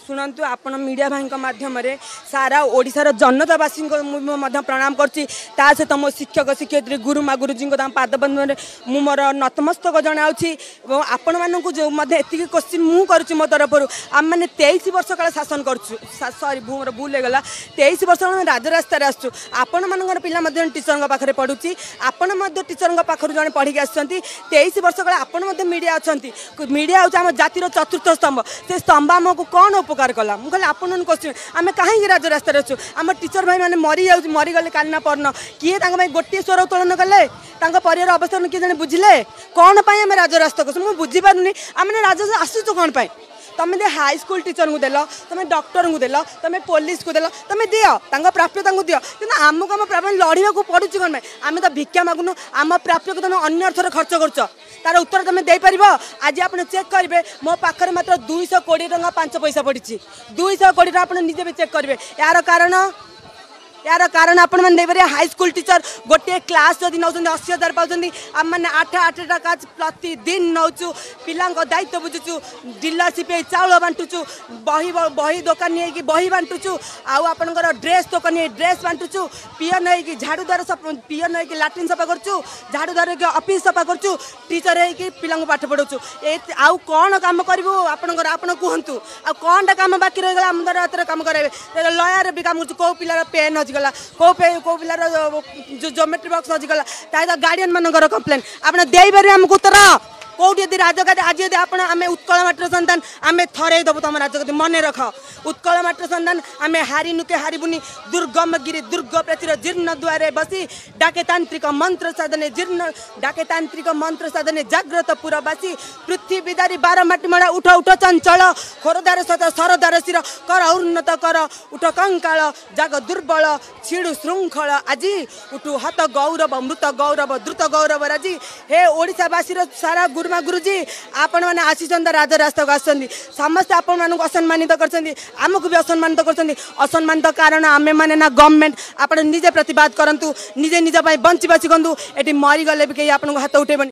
ଶୁଣନ୍ତୁ, ଆପଣ ମିଡ଼ିଆ ଭାଇଙ୍କ ମାଧ୍ୟମରେ ସାରା ଓଡ଼ିଶାର ଜନତାବାସୀଙ୍କ ମୁଁ ମଧ୍ୟ ପ୍ରଣାମ କରୁଛି। ତା ସହିତ ମୋ ଶିକ୍ଷକ ଶିକ୍ଷୟିତ୍ରୀ, ଗୁରୁମା ଗୁରୁଜୀଙ୍କ ତାଙ୍କ ପାଦପଦ୍ମରେ ମୁଁ ମୋର ନତମସ୍ତକ ଜଣାଉଛି। ଏବଂ ଆପଣମାନଙ୍କୁ ଯେଉଁ ମଧ୍ୟ ଏତିକି କୋଶ୍ଚିନ୍ ମୁଁ କରୁଛି ମୋ ତରଫରୁ, ଆମେମାନେ 23 ବର୍ଷ କାଳ ଶାସନ କରୁଛୁ, ସରି ମୋର ଭୁଲ ହେଇଗଲା, 23 ବର୍ଷ କାଳ ଆମେ ରାଜରାସ୍ତାରେ ଆସୁଛୁ। ଆପଣମାନଙ୍କର ପିଲା ମଧ୍ୟ ଟିଚରଙ୍କ ପାଖରେ ପଢ଼ୁଛି, ଆପଣ ମଧ୍ୟ ଟିଚରଙ୍କ ପାଖରୁ ଜଣେ ପଢ଼ିକି ଆସିଛନ୍ତି। 23 ବର୍ଷ କାଳ ଆପଣ ମଧ୍ୟ ମିଡ଼ିଆ ଅଛନ୍ତି। ମିଡ଼ିଆ ହେଉଛି ଆମ ଜାତିର ଚତୁର୍ଥ ସ୍ତମ୍ଭ। ସେ ସ୍ତମ୍ଭ ଆମକୁ କ'ଣ ଉପକାର କଲା? ମୁଁ ଖାଲି ଆପଣଙ୍କୁ କୋଶ୍ଚିନ୍, ଆମେ କାହିଁକି ରାଜରାସ୍ତାରେ ଅଛୁ? ଆମ ଟିଚର ଭାଇମାନେ ମରିଯାଉଛି, ମରିଗଲେ କାଲି ନା ପରଦିନ, କିଏ ତାଙ୍କ ପାଇଁ ଗୋଟିଏ ସ୍ୱର ଉତ୍ତୋଳନ କଲେ? ତାଙ୍କ ପରିବାର ଅବସ୍ଥା କିଏ ଜଣେ ବୁଝିଲେ? କ'ଣ ପାଇଁ ଆମେ ରାଜରାସ୍ତାକୁ ଆସୁ? ମୁଁ ବୁଝିପାରୁନି, ଆମେ ରାଜରାସ୍ତା ଆସୁଛୁ କ'ଣ ପାଇଁ? ତମେ ଦିଅ, ହାଇସ୍କୁଲ ଟିଚରଙ୍କୁ ଦେଲ, ତମେ ଡକ୍ଟରଙ୍କୁ ଦେଲ, ତମେ ପୋଲିସକୁ ଦେଲ, ତମେ ଦିଅ ତାଙ୍କ ପ୍ରାପ୍ୟ ତାଙ୍କୁ ଦିଅ, କିନ୍ତୁ ଆମକୁ ଆମ ପ୍ରାପ୍ୟ ଲଢ଼ିବାକୁ ପଡ଼ୁଛି କ'ଣ ପାଇଁ? ଆମେ ତ ଭିକ୍ଷା ମାଗୁନୁ। ଆମ ପ୍ରାପ୍ୟକୁ ତମେ ଅନ୍ୟ ଅର୍ଥରେ ଖର୍ଚ୍ଚ କରୁଛ, ତାର ଉତ୍ତର ତମେ ଦେଇପାରିବ? ଆଜି ଆପଣ ଚେକ୍ କରିବେ, ମୋ ପାଖରେ ମାତ୍ର 220 ଟଙ୍କା 5 ପଇସା ପଡ଼ିଛି। 220 ଟଙ୍କା ଆପଣ ନିଜେ ବି ଚେକ୍ କରିବେ। ଏହାର କାରଣ ଆପଣମାନେ ଦେଇପାରିବେ? ହାଇସ୍କୁଲ ଟିଚର ଗୋଟିଏ କ୍ଲାସ୍ ଯଦି ନେଉଛନ୍ତି 80,000 ପାଉଛନ୍ତି। ଆମମାନେ 8 8ଟା କ୍ଲାସ୍ ପ୍ରତିଦିନ ନେଉଛୁ, ପିଲାଙ୍କ ଦାୟିତ୍ୱ ବୁଝୁଛୁ, ଡିଲରସିପ୍ ହେଇ ଚାଉଳ ବାଣ୍ଟୁଛୁ, ବହି ବହି ଦୋକାନୀ ହେଇକି ବହି ବାଣ୍ଟୁଛୁ, ଆଉ ଆପଣଙ୍କର ଡ୍ରେସ୍ ଦୋକାନୀ ହେଇ ଡ୍ରେସ୍ ବାଣ୍ଟୁଛୁ, ପିଅନ ହେଇକି ଝାଡ଼ୁଦାର, ପିଅନ ହେଇକି ଲାଟ୍ରିନ୍ ସଫା କରୁଛୁ, ଝାଡ଼ୁଦାର ହେଇକି ଅଫିସ୍ ସଫା କରୁଛୁ, ଟିଚର ହେଇକି ପିଲାଙ୍କୁ ପାଠ ପଢ଼ାଉଛୁ। ଏ ଆଉ କ'ଣ କାମ କରିବୁ ଆପଣଙ୍କର? ଆପଣ କୁହନ୍ତୁ, ଆଉ କ'ଣଟା କାମ ବାକି ରହିଗଲା ଆମ ଦ୍ୱାରା ହାତରେ କାମ କରାଇବେ? ଲୟାର ବି କାମ କରୁଛୁ। କେଉଁ ପିଲାର ପେନ୍ ହଜିଗଲା, କେଉଁ ପିଲାର ଜୋମେଟ୍ରି ବକ୍ସ ହଜିଗଲା, ତା ସହିତ ଗାର୍ଡ଼ିଆନ୍ ମାନଙ୍କର କମ୍ପ୍ଲେନ୍। ଆପଣ ଦେଇପାରିବେ ଆମକୁ ଉତ୍ତର? କେଉଁଠି ଯଦି ରାଜଗାଦି ଆଜି ଯଦି ଆପଣ, ଆମେ ଉତ୍କଳ ମାଟିର ସନ୍ତାନ, ଆମେ ଥରେଇ ଦେବୁ ତମ ରାଜଗାଦି, ମନେ ରଖ। ଉତ୍କଳ ମାଟିର ସନ୍ତାନ, ଆମେ ହାରିନୁ କି ହାରିବୁନି। ଦୁର୍ଗମ ଗିରି ଦୁର୍ଗ ପ୍ରାଚୀର ଜୀର୍ଣ୍ଣ ଦୁଆରେ ବସି ଡାକେ ତାନ୍ତ୍ରିକ ମନ୍ତ୍ର ସାଧନେ ଜୀର୍ଣ୍ଣ, ଡାକେ ତାନ୍ତ୍ରିକ ମନ୍ତ୍ର ସାଧନେ ଜାଗ୍ରତ ପୁରବାସୀ। ପୃଥିବୀ ଦାରି ବାର ମାଟି ମଡ଼ା, ଉଠ ଉଠ ଚଞ୍ଚଳ, ଖୋରଧାର ସତ ସରଦାର ଶିର କର ଉନ୍ନତ କର, ଉଠ କଙ୍କାଳ, ଜାଗ ଦୁର୍ବଳ, ଛିଡ଼ୁ ଶୃଙ୍ଖଳ ଆଜି, ଉଠୁ ହତ ଗୌରବ, ମୃତ ଗୌରବ, ଦ୍ରୁତ ଗୌରବ ରାଜି। ହେ ଓଡ଼ିଶାବାସୀର ସାରା ଗୁରୁମା ଗୁରୁଜୀ, ଆପଣମାନେ ଆସିଛନ୍ତି, ରାଜରାସ୍ତାକୁ ଆସିଛନ୍ତି। ସମସ୍ତେ ଆପଣମାନଙ୍କୁ ଅସମ୍ମାନିତ କରିଛନ୍ତି, ଆମକୁ ବି ଅସମ୍ମାନିତ କରିଛନ୍ତି। ଅସମ୍ମାନିତ କାରଣ ଆମେମାନେ ନା ଗଭର୍ଣ୍ଣମେଣ୍ଟ? ଆପଣ ନିଜେ ପ୍ରତିବାଦ କରନ୍ତୁ, ନିଜେ ନିଜ ପାଇଁ ବଞ୍ଚିବା ଶିଖନ୍ତୁ। ଏଠି ମରିଗଲେ ବି କେହି ଆପଣଙ୍କୁ ହାତ ଉଠେଇବନି।